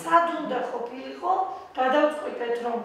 სადუნდა ყოფილიყო, გადავწყვი Պետրომ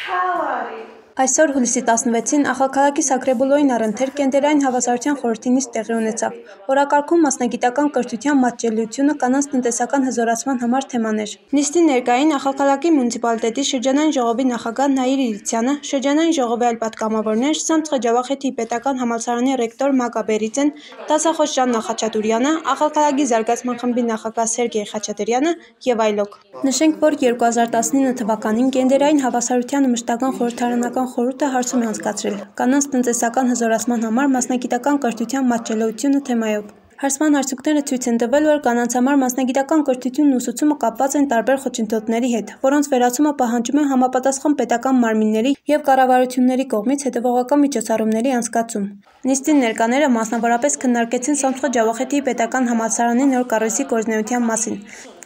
თავარი. Այսօր հուլիսի 16-ին Ախալքալակի Սակրեբուլոյին առընթեր կենդերային հավասարության խորհրդի նիստ տեղի ունեցավ։ Օրակարգում մասնագիտական կրթության մատչելիությունը կանանց տնտեսական հզորացման համար թեման էր։ Նիստի ներկային Ախալքալակի մունիցիպալիտետի շրջանային ժողովի նախագահ Նաիր Իրիցյանը, շրջանային ժողովի այլ պատգամավորներ, Սամցխե Ջավախեթի պետական համալսարանի ռեկտոր Մագա Բերիձեն, դասախոս Ժաննա Խաչատուրյանը, Ախալքալակի զարգացման խմբի նախագահ Սերգեյ Խաչատրյանը եւ այլոք։ Նշենք, որ 2019 թվականին կենդերային հավասարության մշտական խորհրդարանական խորհուրդը հարցում է անցկացրել կանանց տնտեսական հզորացման համար մասնագիտական կրթության մատչելիությունը թեմայով։ Հարցման արդյունքները ցույց են տվել, որ կանանց համար մասնագիտական կրթությունն ու ուսուցումը կապված են տարբեր խոչընդոտների հետ, որոնց վերացումը պահանջում է համապատասխան պետական մարմինների եւ կառավարությունների կողմից հետեւողական միջոցառումների անցկացում։ Նիստին ներկաները մասնավորապես քննարկեցին Սամցխե Ջավախեթի պետական համալսարանի նոր կառույցի գործունեության մասին,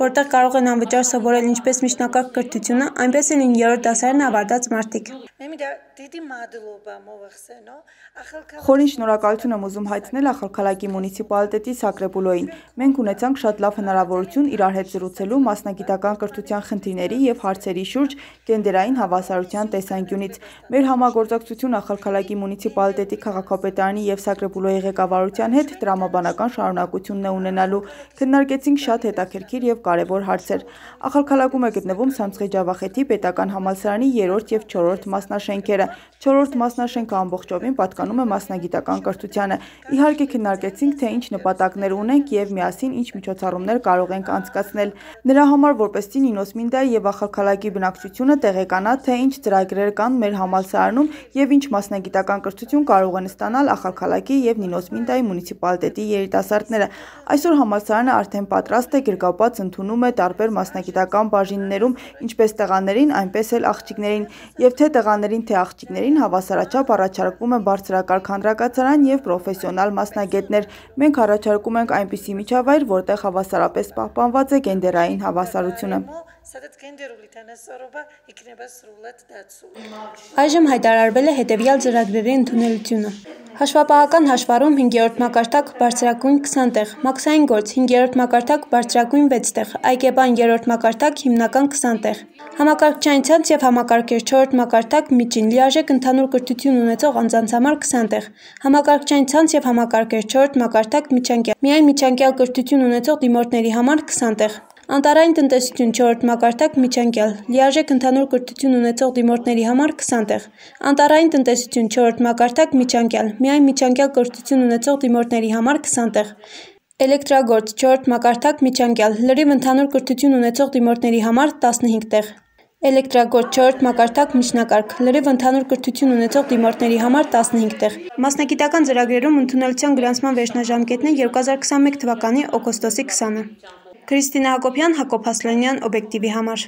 որտեղ կարող են անվճար սովորել ինչպես միջնակարգ կրթությունը, այնպես էլ 9-րդ դասարանը ավարտած մարդիկ։ Խորին շնորհակալություն եմ ուզում հայտնել Ախալքալակի մունիցիպալիտետի Սակրեբուլոյին։ Մենք ունեցանք շատ լավ հնարավորություն իրար հետ զրուցելու մասնագիտական կրթության խնդիրների եւ հարցերի շուրջ կենդերային հավասարության տեսանկյունից։ Մեր համագործակցությունը Ախալքալակի մունիցիպալիտետի քաղաքապետարանի եւ Սակրեբուլոյի ղեկավարության հետ տրամաբանական շարունակությունն է ունենալու։ Քննարկեցինք շատ հետաքրքիր եւ կարեւոր հարցեր։ Ախալքալակում է գտնվում Սամցխե Ջավախեթի պետական համալսարանի 3-րդ եւ 4-րդ մասնաշենքերը։ 4-րդ մասնաշենքը ամբողջովին պատկանում է մասնագիտական կրթությանը։ Իհարկե քննարկեցինք, թե ինչ նպատակներ ունենք եւ միասին ինչ միջոցառումներ կարող ենք անցկացնել։ Նրա համար որպեսզի Նինոս Մինդայի եւ Ախալքալակի բնակչությունը տեղեկանա, թե ինչ ծրագրեր կան մեր համալսարանում եւ ինչ մասնագիտական կրթություն կարող են ստանալ Ախալքալակի եւ Նինոս Մինդայի մունիցիպալիտետի երիտասարդները։ Այսօր համալսարանը արդեն պատրաստ է, գրկապած ընդունում է տարբեր մասնագիտական բաժիններում ինչպես տղաներին, այնպես էլ աղջիկներին, եւ թե տղաներին, թե աղջիկներին հավասարաչափ առաջարկվում է բարձրակարգ հանրակացարան եւ պրոֆեսիոնալ մասնագետներ։ Մենք առաջարկում ենք այնպիսի միջավայր, որտեղ հավասարապես պահպանված է գենդերային հավասարությունը։ Այժմ հայտարարվել է հետևյալ ծրագրերի ընդունելությունը։ Հաշվապահական հաշվառում 5-րդ մակարդակ բարձրագույն 20 տեղ, մաքսային գործ 5-րդ մակարդակ բարձրագույն 6 տեղ, այգեբան 3-րդ մակարդակ հիմնական 20 տեղ, համակարգչային ցանց եւ համակարգեր 4-րդ մակարդակ միջին, լիարժեք ընդհանուր կրթություն ունեցող անձանց համար 20 տեղ, համակարգչային ցանց եւ համակարգեր 4-րդ մակարդակ միջանկյալ, միայն միջանկյալ կրթություն ունեցող դիմորդների համար 20 տեղ, անտարային տնտեսություն 4-րդ մակարդակ միջանկյալ, լիարժեք ընդհանուր կրթություն ունեցող դիմորդների համար 20 տեղ, անտարային տնտեսություն 4-րդ մակարդակ միջանկյալ, միայն միջանկյալ կրթություն ունեցող դիմորդների համար 20 տեղ, էլեկտրագործ 4-րդ մակարդակ միջանկյալ, լրիվ ընդհանուր կրթություն ունեցող դիմորդների համար 15 տեղ, էլեկտրագործ 4-րդ մակարդակ միջնակարգ, լրիվ ընդհանուր կրթություն ունեցող դիմորդների համար 15 տեղ։ Մասնագիտական ծրագրերում ընդունելության գրանցման վերջնաժամկետն է 2021 թվականի օգոստոսի 20-ը։ Քրիստինա Հակոբյան, Հակոբ Հասլանյան, օբյեկտիվի համար։